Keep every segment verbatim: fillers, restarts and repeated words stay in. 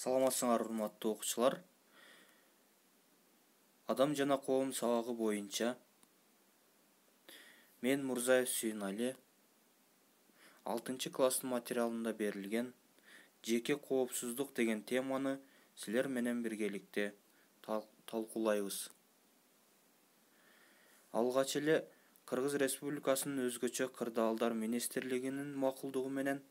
Саламатсыңар урматтуу окуучулар. Адам жана коом сабагы боюнча мен Мурзаев Сүйүнали алтынчы класстын материалында берилген жеке коопсуздук деген теманы силер менен биргеликте талкуулайбыз. Алгач эле Кыргыз Республикасынын өзгөчө кырдаалдар министрлигинин макулдугу менен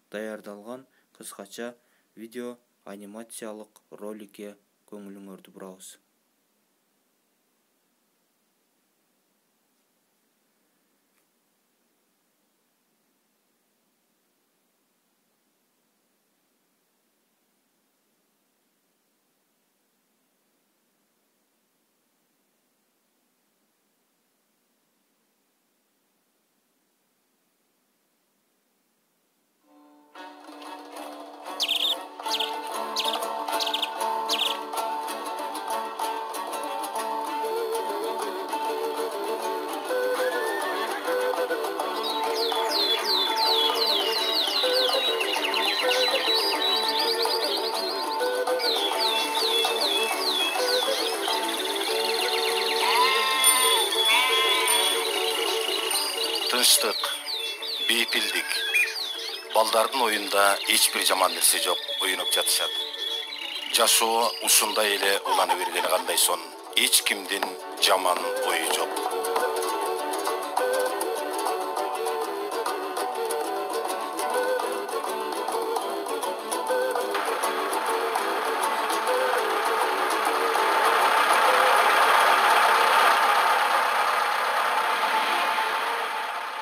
даярдалган кыскача видео анимациялык роликке көңүлүңөрдү бурабыз. Тынчтык, бейпилдик. Балдардын оюнда эч бир жаман нерсе жок, оюнуп жатышат. Жашоо ушундай эле улана бергени кандай сон, эч кимдин жаман ою жок.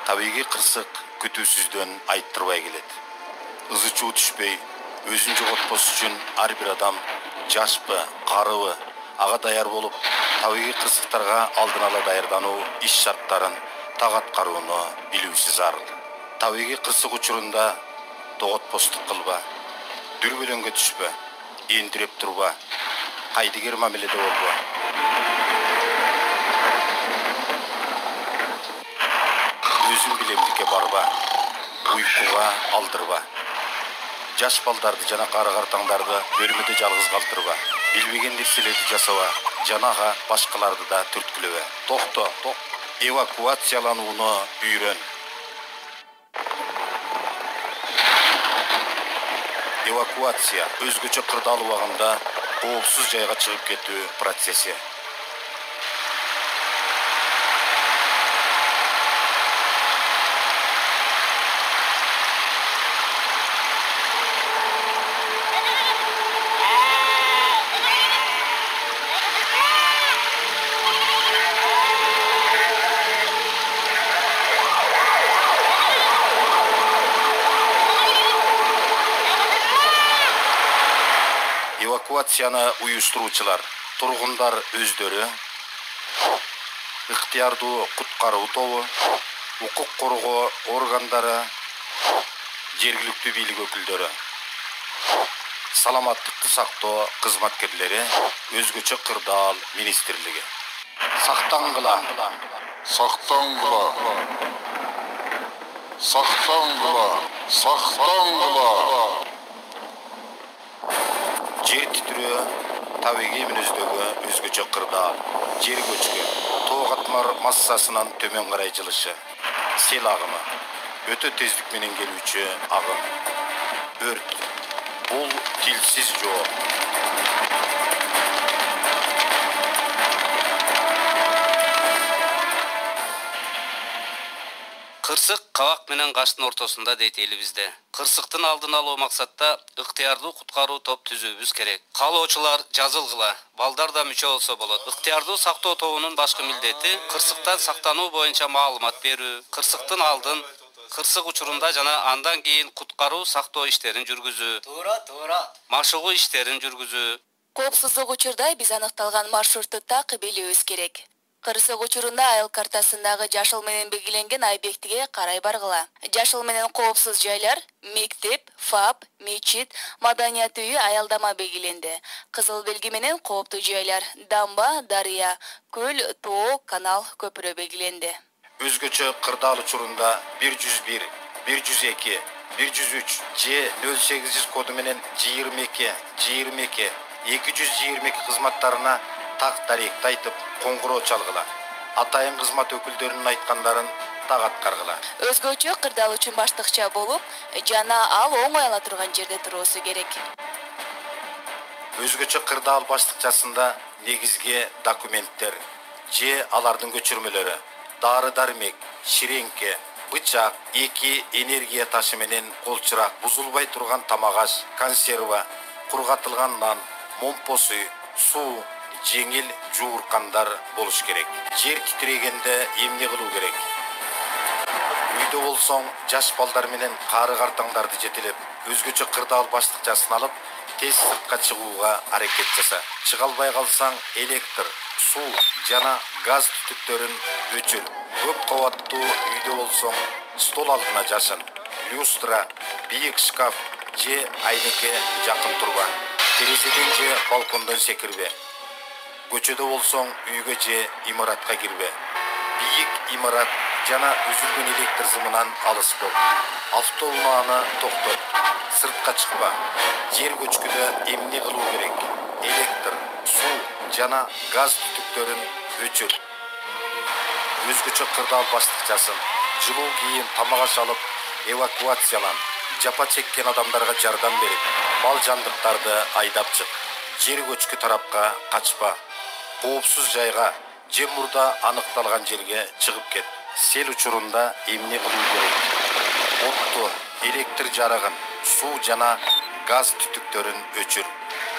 Табиғи кырсык күтүүсүздөн айттырбай келет. Ызы чуу түшпөй, өзүн жоготпос үчүн ар бир адам, жашпы, карыбы, ага даяр болуп, табиғи кырсыктарга алдын ала даярдануу иш шарттарын так аткарууну билүүсү зарыл. Табиғи кырсык учурунда тоготпостук кылба, дүрбөлөңгө түшпө, эндиреп турба, кайдыгер мамиледе болбо. Өзүң билемдикке барба, уйкуга алдырба. Жаш балдарды жана кары картаңдарды бөлмөдө жалгыз калтырба. Билбеген нерселерди жасаба, жанага башкаларды да түрткүлөбө. Токто, ток. Эвакуацияланууну үйрөн. Эвакуация өзгөчө кырдаал убагында коопсуз жайга чыгып кетүү процесси. Эвакуацияны уюштуруучулар, тургундар өздөрү, ыктыярдуу куткаруу тобу, укук коргоо органдары, жергиликтүү бийлик өкүлдөрү, саламаттыкты сактоо кызматкерлери, өзгөчө кырдаал министрлиги. Сактангыла, Сактангыла, сактангыла, сактангыла. Жер титирөө, табиғи мүнөздөгү өзгөчө кырдаал, жер көчкү, тоо катмар массасынан төмөн карай жылышы, сел агымы, өтө тездик менен келүүчү агым, өрт, бул тилсиз жоо. Кырсык кабак менен каштын ортосунда дейт элибизде. Кырсыктын алдын алуу максатта ыктыярдуу куткаруу топ түзүүбүз керек. Каалоочулар жазылгыла, балдар да мүчө болсо болот. Ыктыярдуу сактоо тобунун башкы милдети кырсыктан сактануу боюнча маалымат берүү, кырсыктын алдын, кырсык учурунда жана андан кийин куткаруу сактоо иштерин жүргүзүү. Туура, туура. Машыгуу иштерин жүргүзүү. Коопсуздук учурда биз аныкталган маршрутту так билүүбүз керек. Кырсык учурунда айыл картасындагы жашыл менен белгиленген объектиге карай баргыла. Жашыл менен коопсуз жайлар мектеп, ФАП, мечит, маданият үйү, аялдама белгиленди. Кызыл белги менен кооптуу жайлар дамба, дарыя, көл, тоо, канал, көпүрө белгиленди. Өзгөчө кырдаал учурунда бир жүз бир, бир жүз эки, бир жүз үч же нөл сегиз жүз коду менен жыйырма эки жыйырма эки эки жүз жыйырма эки кызматтарына так даректи айтып коңгуроо чалгыла. Атайын кызмат өкүлдөрүнүн айткандарын так аткаргыла. Өзгөчө кырдаал үчүн баштыкча болуп, жана ал оңой ала турган жерде туруусу керек. Өзгөчө кырдаал баштыкчасында негизги документтер же алардын көчүрмөлөрү, дары-дармек, ширеңке, бычак, эки энергия ташы менен колчурак, бузулбай турган тамак-аш, консерва, кургатылган нан, момпосу, суу, жеңил жууркандар болуш керек. Жер титирегенде эмне кылуу керек? Үйдө болсоң, жаш балдар менен кары картаңдарды жетелеп, өзгөчө кырдаал баштыкчасын алып, тез сыртка чыгууга аракет жаса. Чыга албай калсаң, электр, суу жана газ түтүктөрүн өчүр. Көп кабаттуу үйдө болсоң, стол алдына жашын. Люстра, бийик шкаф же айнеке жакын турба. Терезеден же балкондон секирбе. Көчөдө болсоң, үйгө же имаратка кирбе. Бийик имарат жана үзүлгөн электр зымынан алыс бол. Автоунааны токтот. Сыртка чыкпа. Жер көчкүдө эмне кылуу керек? Электр, суу жана газ түтүктөрүн өчүр. Өзгөчө кырдаал баштыкчасын. Жылуу кийим, тамак-аш алып, эвакуациялан. Жапа чеккен адамдарга жардам берип, мал жандыктарды айдап чык. Жер көчкү тарапка качпа. Коопсуз жайга же мурда аныкталган жерге чыгып кет. Сел учурунда эмне кылуу керек? Отту, электр жарыгын, суу жана газ түтүктөрүн өчүр.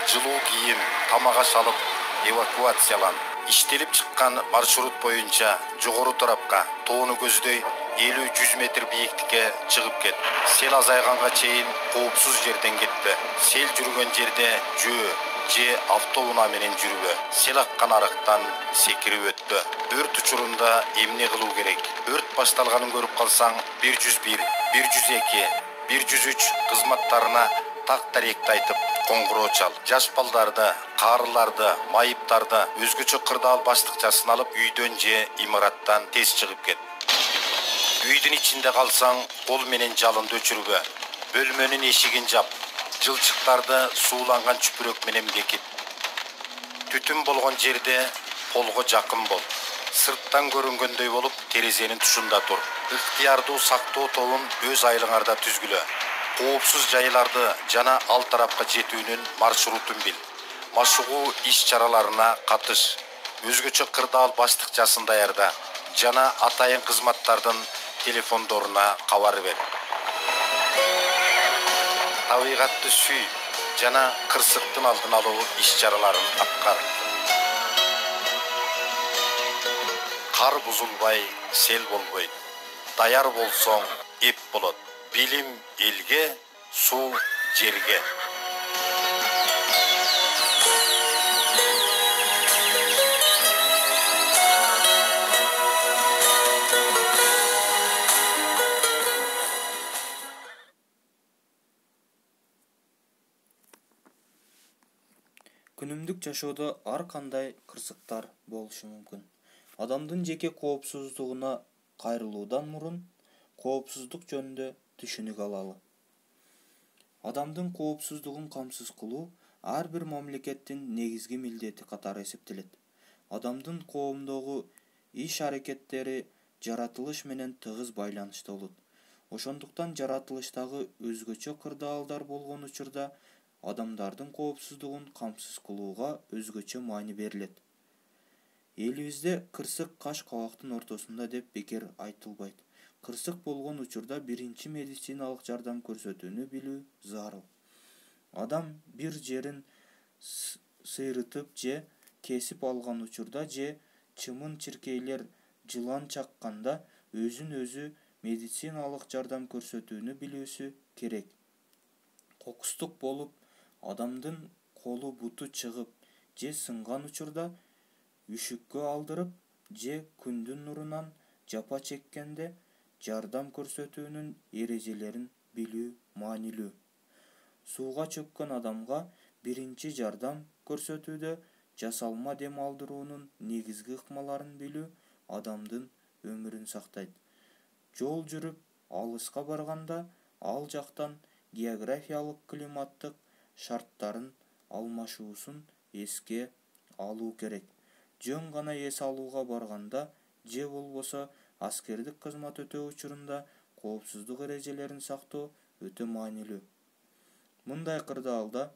Жылуу кийим, тамак-аш алып, эвакуациялан. Иштелип чыккан маршрут боюнча жогору тарапка, тоону көздөй элүү жүз метр бийиктикке чыгып кет. Сел азайганга чейин коопсуз жерден кетпе. Сел жүргөн жерде жөө же автоунаа менен жүрбө. Сел аккан арыктан секирип өтпө. Өрт учурунда эмне кылуу керек? Өрт башталганын көрүп калсаң, бир жүз бир, бир жүз эки, бир жүз үч кызматтарына так даректи айтып коңгуроо чал. Жаш балдарды, карыларды, майыптарды өзгөчө кырдаал баштыкчасын алып, үйдөн же имараттан тез чыгып кет. Үйдүн ичинде калсаң, кол менен жалынды өчүрбө. Бөлмөнүн эшигин жап. Жылчыктарды сууланган чүпүрөк менен бекит. Түтүн болгон жерде полго жакын бол. Сырттан көрүнгөндөй болуп, терезенин тушунда тур. Ыктыярдуу сактоо тобун өз айылыңарда түзгүлө. Коопсуз жайларды жана ал тарапка жетүүнүн маршрутун бил. Машыгуу иш-чараларына катыш. Өзгөчө кырдаал баштыкчасын даярда жана атайын кызматтардын телефондоруна кабар бер. Табигатты сүй жана кырсыктын алдын алуу иш-чараларын аткар. Кар бузулбай, сел болбойт. Даяр болсоң, эп болот. Билим элге, суу жерге. Күнүмдүк жашоодо ар кандай кырсыктар болушу мүмкүн. Адамдын жеке коопсуздугуна кайрылуудан мурун коопсуздук жөнүндө түшүнүк алалы. Адамдын коопсуздугун камсыз кылуу ар бир мамлекеттин негизги милдети катары эсептелет. Адамдын коомдогу иш-аракеттери жаратылыш менен тыгыз байланышта болот. Ошондуктан жаратылыштагы өзгөчө кырдаалдар болгон учурда адамдардын коопсуздугун камсыз кылууга өзгөчө маани берилет. Элибизде кырсык каш кабактын ортосунда деп бекер айтылбайт. Кырсык болгон учурда биринчи медициналык жардам көрсөтүүнү билүү зарыл. Адам бир жерин сыйрытып же кесип алган учурда же чымын-чиркейлер жылан чакканда өзүн өзү медициналык жардам көрсөтүүнү билүүсү керек. Кокустук болуп, адамдын колу буту чыгып же сынган учурда үшүккө алдырып же күндүн нурунан жапа чеккенде жардам көрсөтүүнүн эрежелерин билүү маанилүү. Сууга чөккөн адамга биринчи жардам көрсөтүүдө жасалма дем алдыруунун негизги ыкмаларын билүү адамдын өмүрүн сактайт. Жол жүрүп алыска барганда ал жактан географиялык климаттык шарттарын алмашуусун эске алуу керек. Жөн гана эс алууга барганда же болбосо аскердик кызмат өтөө учурунда коопсуздук эрежелерин сактоо өтө маанилүү. Мындай кырдаалда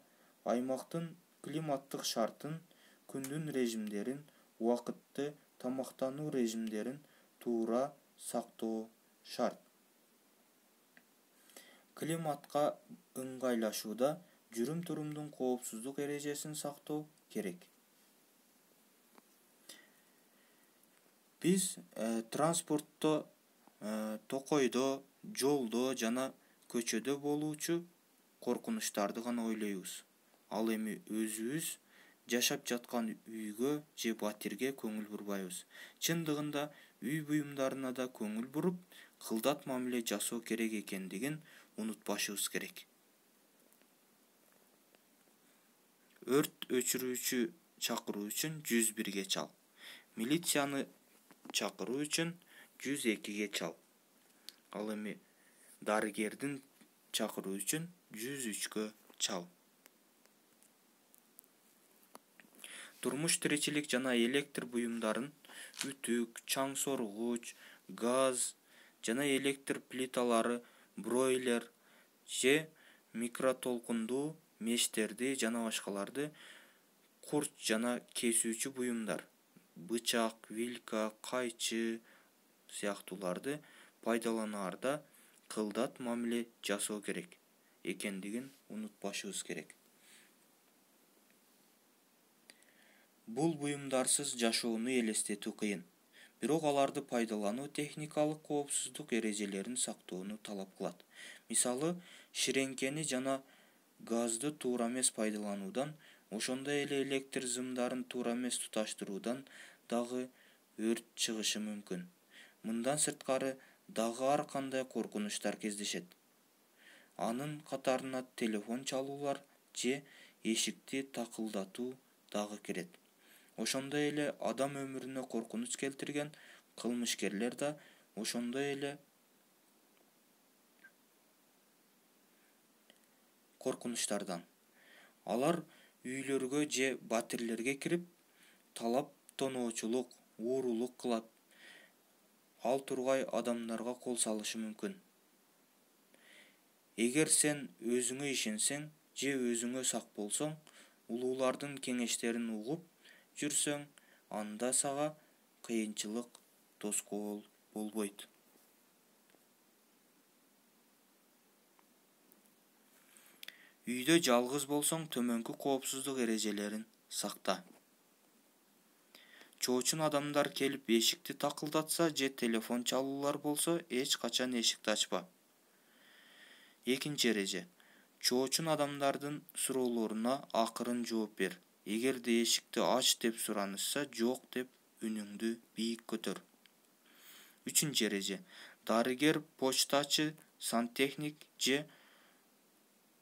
аймактын климаттык шартын, күндүн режимдерин, убакытты тамактануу режимдерин туура сактоо шарт. Климатка ыңгайлашууда жүрүм-турумдун коопсуздук эрежесин сактоо керек. Биз э, транспортто, э, токойдо, жолдо жана көчөдө болуучу коркунучтарды гана ойлойбуз. Ал эми өзүбүз жашап жаткан үйгө же батирге көңүл бурбайбыз. Чындыгында үй буюмдарына да көңүл буруп, кылдат мамиле жасоо керек экендигин унутпашыбыз керек. Өрт өчүрүүчү чакыруу үчүн жүз бирге чал. Милицияны чакыруу үчүн жүз экиге чал. Ал эми дарыгердин чакыруу үчүн жүз үчкө чал. Турмуш тиричилик жана электр буюмдарын, үтүк, чаң соргуч, газ жана электр плиталары, бройлер же микротолкундуу мештерди жана башкаларды, курч жана кесүүчү буюмдар, бычак, вилка, кайчы сыяктууларды пайдаланаарда кылдат мамиле жасоо керек экендигин унутпашыбыз керек. Бул буюмдарсыз жашоону элестетүү кыйын, бирок аларды пайдалануу техникалык коопсуздук эрежелерин сактоону талап кылат. Мисалы, ширеңкени жана газды туура эмес пайдалануудан, ошондой эле электр зымдарын туура эмес туташтыруудан дагы өрт чыгышы мүмкүн. Мындан сырткары дагы ар кандай коркунучтар кездешет. Анын катарына телефон чалуулар же эшикти такылдатуу дагы кирет. Ошондой эле адам өмүрүнө коркунуч келтирген кылмышкерлер да ошондой эле коркунучтардан. Алар үйлөргө же батирлерге кирип, талап тоноочулук, уурулук кылып, ал тургай адамдарга кол салышы мүмкүн. Эгер сен өзүңө ишенсең же өзүңө сак болсоң, улуулардын кеңештерин угуп жүрсөң, анда сага кыйынчылык тоскоол болбойт. Үйдө жалгыз болсоң, төмөнкү коопсуздук эрежелерин сакта. Чоочун адамдар келип эшикти такылдатса же телефон чалуулар болсо, эч качан эшикти ачпа. Экинчи эреже. Чоочун адамдардын суроолоруна акырын жооп бер. Эгерде эшикти ач деп суранышса, жок деп үнүңдү бийик көтөр. Үчүнчү эреже. Дарыгер, почтачы, сантехник же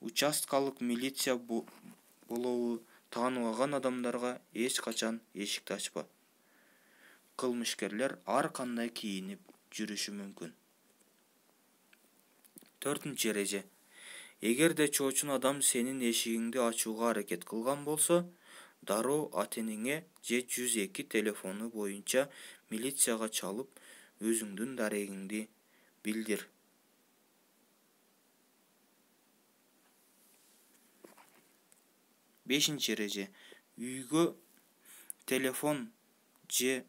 участкалык милиция болобу тааныбаган адамдарга эч качан эшикти ачпа. Кылмышкерлер ар кандай кийинип жүрүшү мүмкүн. Төртүнчү эреже. Эгерде чоочун адам сенин эшигиңди ачууга аракет кылган болсо, дароо ата-энеңе же жүз эки телефону боюнча милицияга чалып, өзүңдүн дарегиңди билдир. Бешинчи эреже. Үйгө телефон же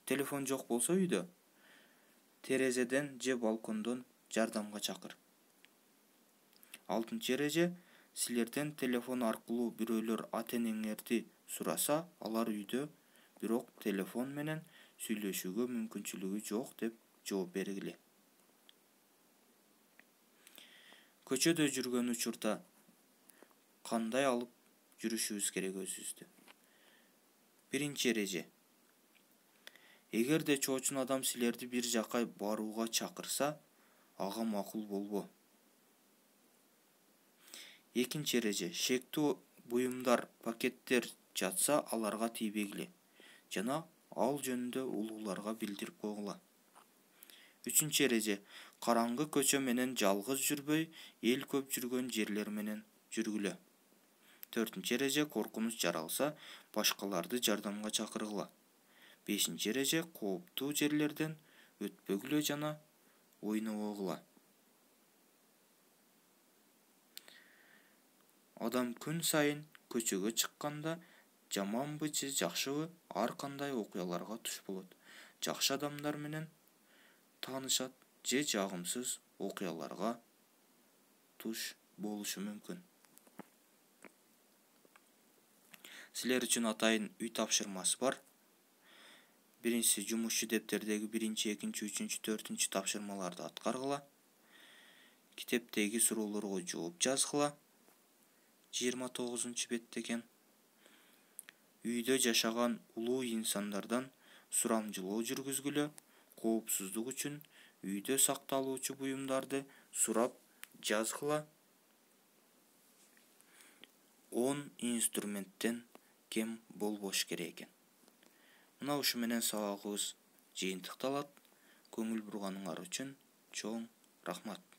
телефон жок болсо үйдө, терезеден же балкондон жардамга чакыр. Алтынчы эреже. Силерден телефон аркылуу бирөөлөр ата-энеңерди сураса, алар үйдө, бирок телефон менен сүйлөшүүгө мүмкүнчүлүгү жок деп жооп бергиле. Көчөдө жүргөн учурда кандай алып жүрүшүбүз керек өзүбүздү? Биринчи эреже. Эгерде чоочун адам силерди бир жакка барууга чакырса, ага макул болбо. Экинчи эреже. Шектүү буюмдар, пакеттер жатса, аларга тийбегиле жана ал жөнүндө улууларга билдирип койгула. Үчүнчү эреже: караңгы көчө менен жалгыз жүрбөй, эл көп жүргөн жерлер менен жүргүлө. Төртүнчү эреже: коркунуч жаралса, башкаларды жардамга чакыргыла. Бешинчи эреже: кооптуу жерлерден өтпөгүлө жана ойнобогула. Адам күн сайын көчөгө чыкканда жаманбы же жакшыбы ар кандай окуяларга туш болот. Жакшы адамдар менен таанышат же жагымсыз окуяларга туш болушу мүмкүн. Силер үчүн атайын үй тапшырмасы бар. Биринчиси: жумушчу дептердеги биринчи, экинчи, үчүнчү, төртүнчү тапшырмаларды аткаргыла. Китептеги суроолорго жооп жазгыла. жыйырма тогузунчу бетте экен. Үйдө жашаган улуу инсандардан сурамжылоо жүргүзгүлө. Коопсуздук үчүн үйдө сакталуучу буюмдарды сурап жазгыла. он инструменттен кем болбош керек экен. Мына ушу менен сабагыбыз жыйынтыкталат. Көңүл бурганыңар үчүн чоң рахмат.